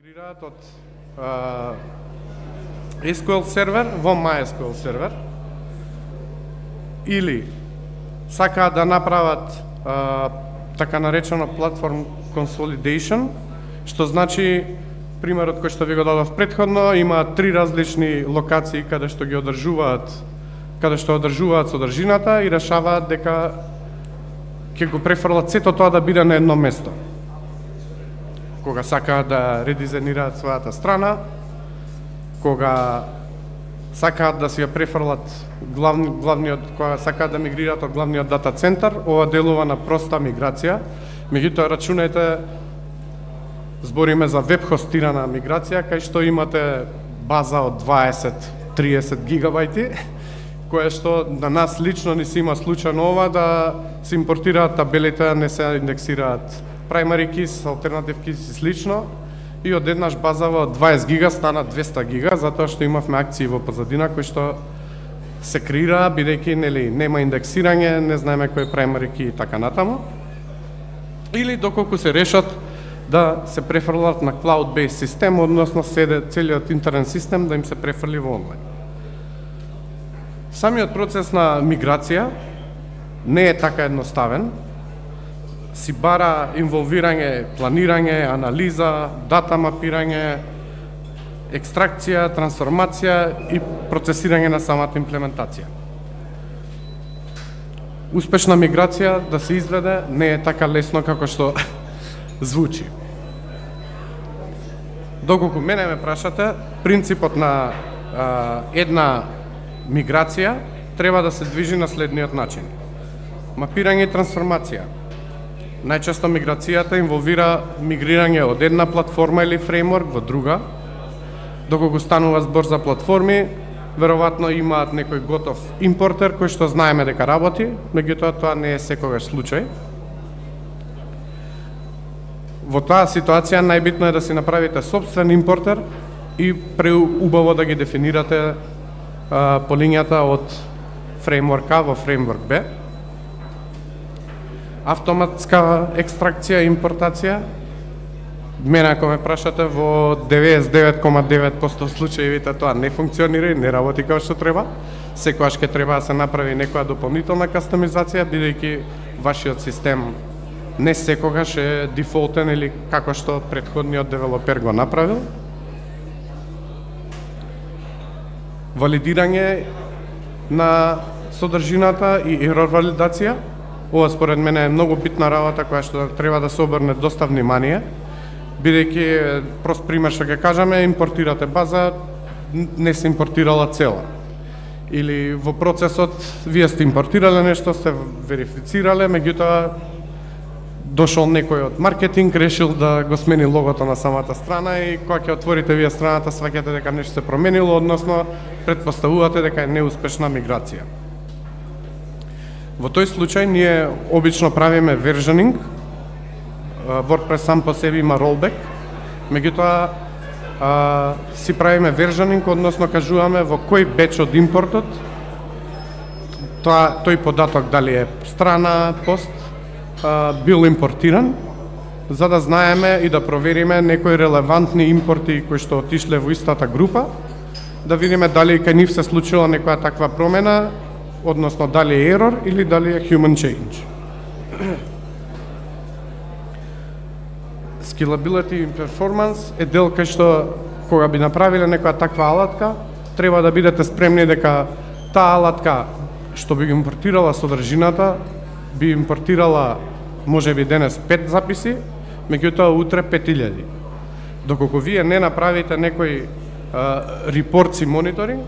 Мигрираат од SQL сервер во MySQL сервер или сакаат да направат така наречено platform consolidation, што значи примерот кој што ви го дадов претходно, има 3 различни локации каде што ги одржуваат, содржината и решаваат дека ќе го префрлат сето тоа да биде на едно место. Кога сакаат да редизајнираат својата страна, кога сакаат да си ја префрлат кога сакаат да мигрираат од главниот дата центар, ова делува на проста миграција. Меѓутоа рачунајте, збориме за веб хостирана миграција, кај што имате база од 20-30 гигабајти, која што на нас лично ни се има случајно ова да се импортираат табелите, не се индексираат primary keys, alternative keys и слично, и одеднаш базава од 20 гига стана 200 гига, затоа што имавме акции во позадина кои што се креира, бидејќи нема индексирање, не знаеме кој е primary key и така натаму. Или доколку се решат да се префрлат на cloud-based систем, односно целиот интернет систем да им се префрли во онлайн. Самиот процес на миграција не е така едноставен. Си бара инволвирање, планирање, анализа, дата мапирање, екстракција, трансформација и процесирање на самата имплементација. Успешна миграција да се изведе не е така лесно како што звучи. Доколку мене ме прашате, принципот на една миграција треба да се движи на следниот начин. Мапирање и трансформација. Најчесто миграцијата инволвира мигрирање од една платформа или фреймворк во друга. Доколку станува збор за платформи, веројатно имаат некој готов импортер кој што знаеме дека работи, меѓутоа тоа не е секогаш случај. Во таа ситуација најбитно е да си направите сопствен импортер и преубаво да ги дефинирате полињата од фреймворк А во фреймворк Б. Автоматска екстракција и импортација. Мене ако ме прашате, во 99,9% случаевите тоа не функционира и не работи како што треба. Секогаш ќе треба да се направи некоја дополнителна кастомизација, бидејќи вашиот систем не секогаш е дефолтен или како што претходниот девелопер го направил. Валидирање на содржината и ерор валидација. Ова според мене е многу битна работа која што треба да се обрне доста внимание, бидејќи прост пример што ќе кажеме, импортирате база, не се импортирала цела. Или во процесот вие сте импортирале нешто, сте верифицирале, меѓутоа дошол некој од маркетинг, решил да го смени логото на самата страна и кога ќе отворите вие страната, сваќате дека нешто се променило, односно претпоставувате дека е неуспешна миграција. Во тој случај ние обично правиме versioning. WordPress сам по себе има rollback, меѓутоа си правиме versioning, односно кажуваме во кој беч од импортот тој податок дали е страна, пост, бил импортиран, за да знаеме и да провериме некои релевантни импорти кои што отишле во истата група, да видиме дали кај нив се случила некоја таква промена, односно дали е ерор или дали е human change. Scalability и performance е дел кај што кога би направиле некоја таква алатка, треба да бидете спремни дека таа алатка што би импортирала содржината, би импортирала можеби денес 5 записи, меѓутоа утре 5000. Доколку вие не направите некој репорт и мониторинг,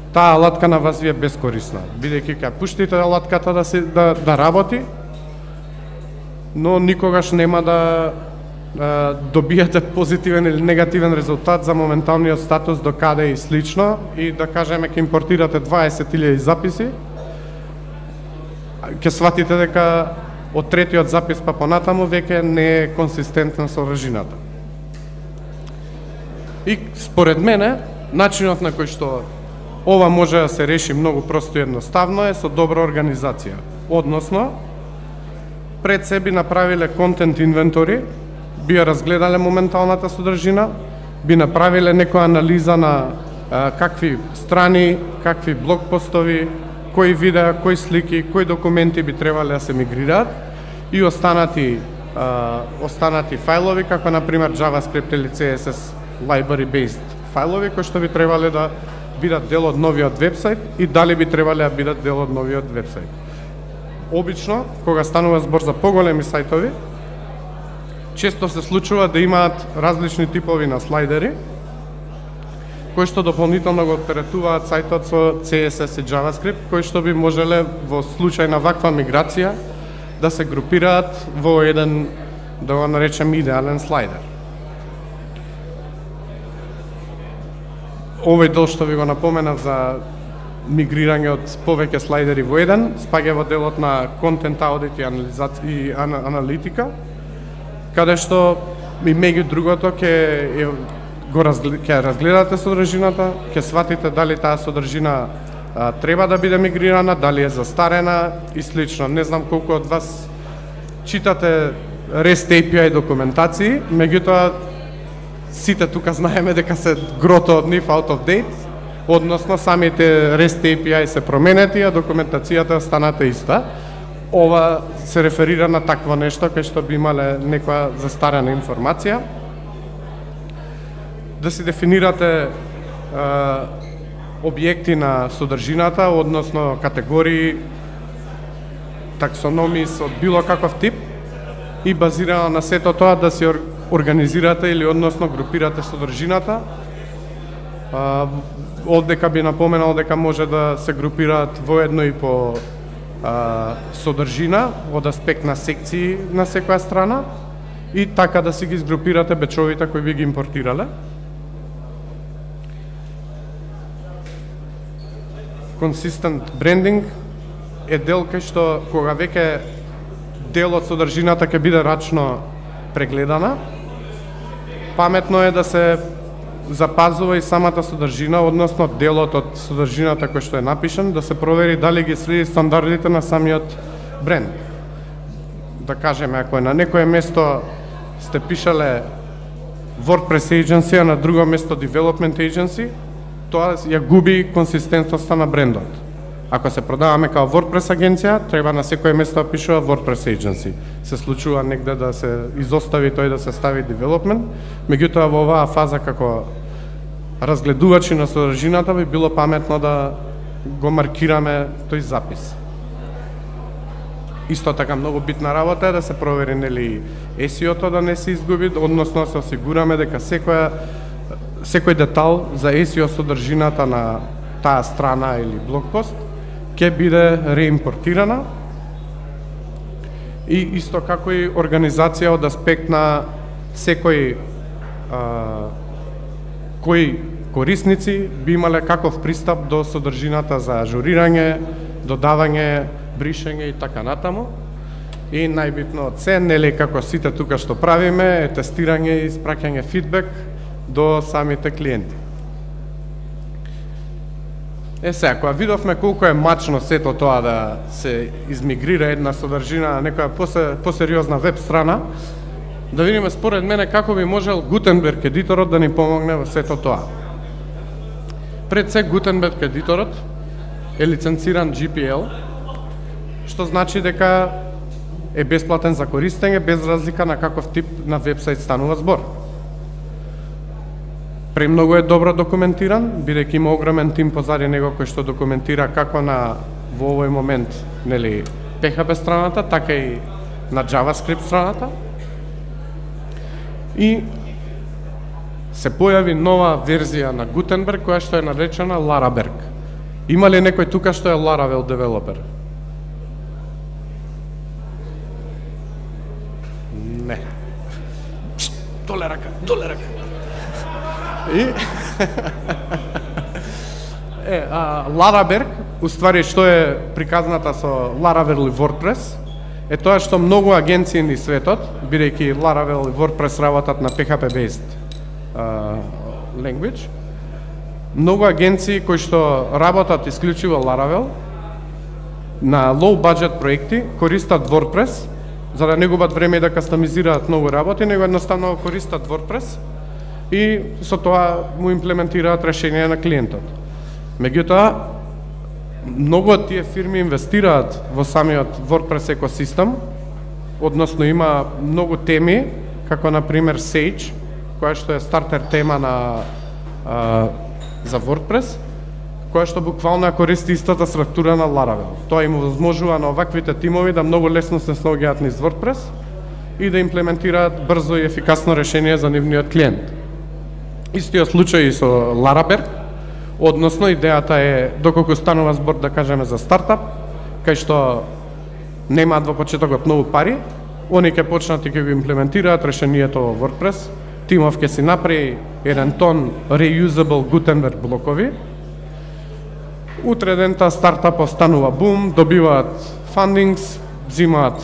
таа алатка на вас ви е бескорисна, бидејќи ќе пуштите алатката да работи, но никогаш нема да добиете позитивен или негативен резултат за моменталниот статус до каде и слично, и да кажеме ќе импортирате 20.000 записи, ќе сватите дека од третиот запис па понатаму веќе не е консистентна содржината. И според мене, начинот на кој што ова може да се реши многу просто и едноставно е со добра организација. Односно, пред себе направиле контент инвентори, би ја разгледале моменталната содржина, би направиле некоја анализа на какви страни, какви блогпостови, кои видеа, кои слики, кои документи би требале да се мигрираат и останати фајлови, како например JavaScript или CSS library-based фајлови, кои што би требале да бидат дел од новиот вебсайт и дали би требале да бидат дел од новиот вебсайт. Обично, кога станува збор за поголеми сајтови, често се случува да имаат различни типови на слайдери, кои што дополнително го оператуваат сајтот со CSS и JavaScript, кои што би можеле во случај на ваква миграција да се групираат во еден, да го наречем, идеален слайдер. Овој дел што ви го напоменав за мигрирање од повеќе слайдери во еден, спаѓа во делот на контент аудит и аналитика, каде што и меѓу другото ќе разгледате содржината, ќе сватите дали таа содржина треба да биде мигрирана, дали е застарена и слично. Не знам колку од вас читате REST API документации, меѓутоа сите тука знаеме дека се грото од нив out of date, односно самите REST API се променети, а документацијата останата иста. Ова се реферира на такво нешто кај што би имале некоја застарена информација. Да си дефинирате објекти на содржината, односно категории, таксономии од било каков тип и базирано на сето тоа да си организирате или односно групирате содржината. Одека би напоменал дека може да се групираат воедно и по содржина од аспект на секции на секоја страна и така да си ги изгрупирате бечовите кои би ги импортирале. Consistent branding е дел кај што кога веќе дел од содржината ќе биде рачно прегледана, паметно е да се запазува и самата содржина, односно делот од содржината кој што е напишан, да се провери дали ги следи стандардите на самиот бренд. Да кажеме, ако е на некое место сте пишале WordPress agency, а на друго место development agency, тоа ја губи консистентноста на брендот. Ако се продаваме као WordPress агенција, треба на секое место да пишува WordPress agency. Се случува негде да се изостави тој да се стави development, меѓутоа во оваа фаза како разгледувачи на содржината би било паметно да го маркираме тој запис. Исто така многу битна работа е да се провери нели SEO-то да не се изгуби, односно се осигураме дека секој детал за SEO содржината на таа страна или блогпост ќе биде реимпортирана и исто како и организација од аспект на секој кои корисници би имале каков пристап до содржината за ажурирање, додавање, бришење и така натаму. И најбитно од се, нели како сите тука што правиме, е тестирање и испраќање фидбек до самите клиенти. Сега, кога видовме колку е мачно сето тоа да се измигрира една содржина на некоја посериозна веб страна, да видиме според мене како би можел Gutenberg едиторот да ни помогне во сето тоа. Пред се Gutenberg едиторот е лиценциран GPL, што значи дека е бесплатен за користење без разлика на каков тип на вебсайт станува збор. Премногу е добро документиран, бидејќи има огромен тим позади него кој што документира како на во овој момент, нели, PHP страната, така и на JavaScript страната. И се појави нова верзија на Gutenberg која што е наречена Laraberg. Има ли некој тука што е Laravel девелопер? Не. Доле рака. И Laraberg, уствари што е приказната со Laravel и WordPress, е тоа што многу агенции ни светот, бидејќи Laravel и WordPress работат на PHP-based language, многу агенции кои што работат исклучиво Laravel, на low budget проекти користат WordPress, за да не губат време да кастомизираат многу работи, него едноставно користат WordPress и со тоа му имплементираат решение на клиентот. Меѓутоа, многу од тие фирми инвестираат во самиот WordPress екосистем, односно има многу теми, како на пример Sage, која што е стартер тема за WordPress, која што буквално користи истата структура на Laravel. Тоа им возможува на оваквите тимови да многу лесно се снаоѓаат низ WordPress и да имплементираат брзо и ефикасно решение за нивниот клиент. Истиот случај и со Laraberg, односно идејата е, доколку станува збор да кажеме за стартап, кај што немаат во почетокот многу пари, они ќе почнат и ќе го имплементираат решението во WordPress, тимов ќе си направи еден тон reusable Gutenberg блокови, утре ден таа стартапот станува бум, добиваат фандингс, взимаат,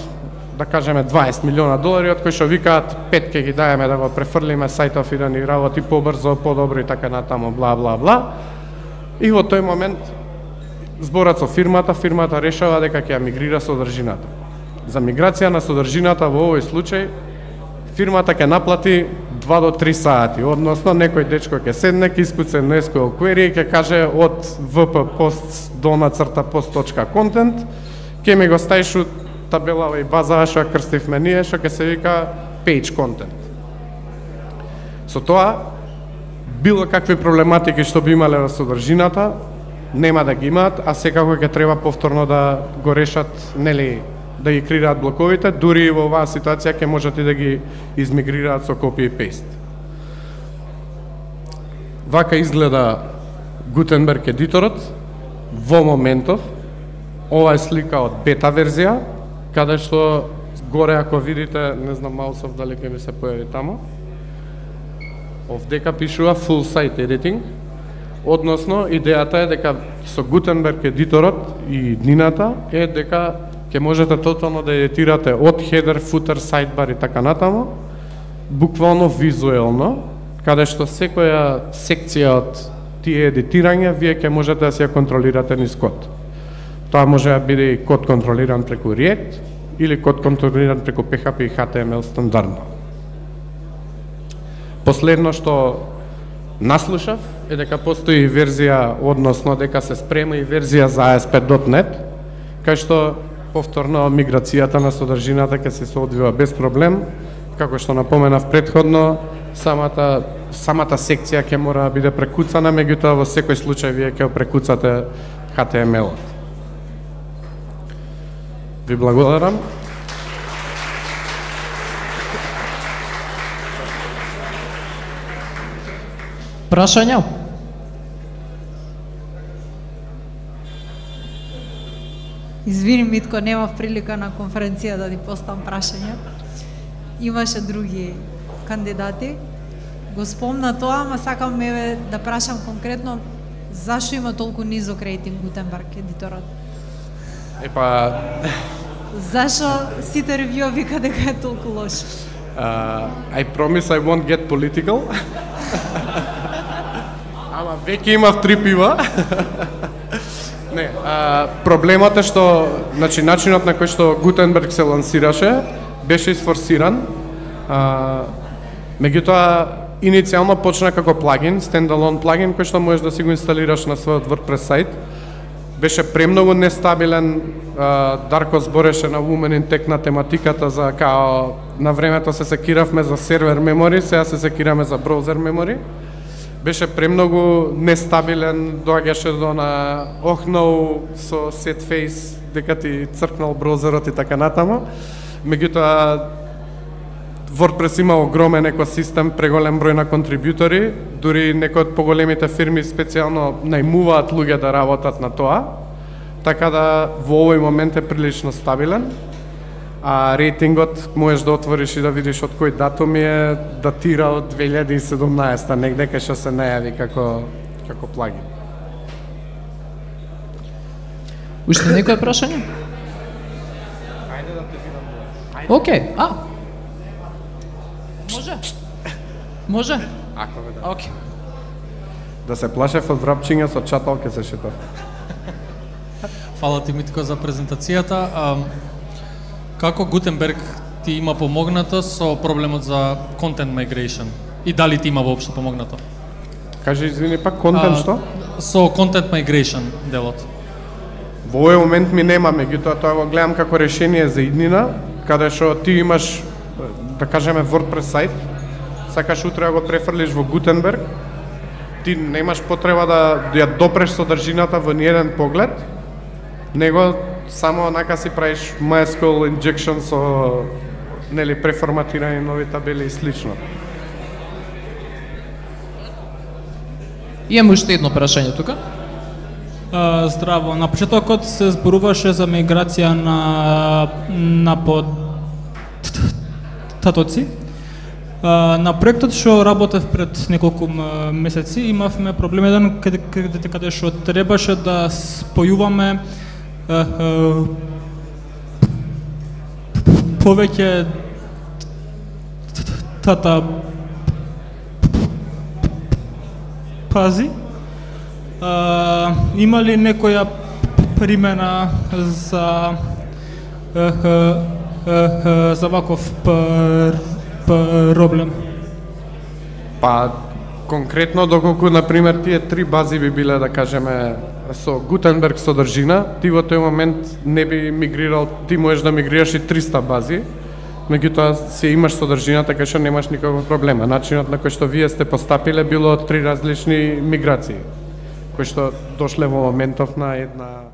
да кажеме, $20 милиона, од кои што викаат 5 ќе ги даеме да го префрлиме сајтов и да ни работи побрзо, подобро и така натаму, бла, бла, бла. И во тој момент зборат со фирмата решава дека ќе ја мигрира содржината. За миграција на содржината во овој случај, фирмата ќе наплати 2 до 3 сати, односно некој дечко ќе седне, ќе искуце на SQL query и ќе каже од wp-post_post.content ќе ми го ставиш у табелава и база што ја крстивме ние, што ќе се вика page content. Со тоа, било какви проблематики што би имале во содржината, нема да ги имаат, а секако ќе треба повторно да го решат, нели, да ги креираат блоковите, дури и во оваа ситуација ќе можат и да ги измигрираат со copy и paste. Вака изгледа Gutenberg едиторот во моментов. Ова е слика од бета верзија, каде што горе ако видите, не знам маусов дали ќе ми се појави тамо, овдека пишува full site editing, односно идејата е дека со Gutenberg едиторот и иднината е дека ќе можете тотално да едитирате од header, footer, sidebar и така натаму, буквално визуелно, каде што секоја секција од тие едитирања вие ќе можете да си ја контролирате низ код. Тоа може да биде и код контролиран преку React или код контролиран преку PHP и HTML стандардно. Последно што наслушав е дека постои верзија, односно дека се спрема и верзија за ASP.NET, кај што повторно миграцијата на содржината ќе се одвива без проблем. Како што напоменав претходно, самата секција ќе мора да биде прекуцана, меѓутоа во секој случај вие ќе прекуцате HTML-от. Ви благодарам. Прашања? Извини, Митко, немав прилика на конференција да ти поставам прашања. Имаше други кандидати. Го спомна тоа, ама сакам да прашам конкретно зашто има толку низок рейтинг Gutenberg едиторот? Зашо сите ревјуа вика дека е толку лош? I promise I won't get political. Ама веќе имав 3 пива. Не, проблемот е што, значи, начинот на кој што Gutenberg се лансираше беше изфорсиран. Меѓутоа, иницијално почна како плагин, стендалон плагин, кој што можеш да си го инсталираш на својот WordPress сајт. Беше премногу нестабилен, Дарко збореше на Women in Tech на тематиката за као на времето се секиравме за сервер мемори, сега се секираме за браузер мемори. Беше премногу нестабилен, доаѓаше до на охнау со set face дека ти цркнал браузерот и така натаму. Меѓутоа, WordPress има огромен екосистем, преголем број на контрибутори, дури некои од поголемите фирми специјално најмуваат луѓе да работат на тоа, така да во овој момент е прилично стабилен, а рейтингот можеш да отвориш и да видиш од кој датум е, датира од 2017, негде кај што се најави како плагин. Уште некој прашање? Ајде да те видам. Океј, Може? Ако ме да. Океј. Да се плашев од врапчиња со чатал ке се шетав. Фала ти, Митко, за презентацијата. Како Gutenberg ти има помогнато со проблемот за content migration? И дали ти има воопшто помогнато? Кажи, извини пак, контент што? Со content migration делот. Во овој момент ми нема, меѓутоа тоа го гледам како решение за иднина, каде што ти имаш, да кажеме, WordPress сайт, сакаш утре да го префрлиш во Gutenberg, ти немаш потреба да ја допреш содржината во ниеден поглед, него само онака си правиш MySQL injection со нели преформатирани нови табели и слично. Имаме уште едно прашање тука. Здраво, на почетокот се зборуваше за миграција на податоци. На проектот што работев пред неколку месеци имавме проблем еден каде што требаше да спојуваме повеќе тата пази. Има ли некоја примена за ваков проблем? Па, конкретно, доколку, например, тие 3 бази би биле, да кажеме, со Gutenberg содржина, ти во тој момент не би мигрирал, ти можеш да мигрираш и 300 бази, меѓутоа си имаш содржина, така што немаш никаков проблема. Начинот на кој што вие сте постапиле било 3 различни миграции, кои што дошле во моментов на една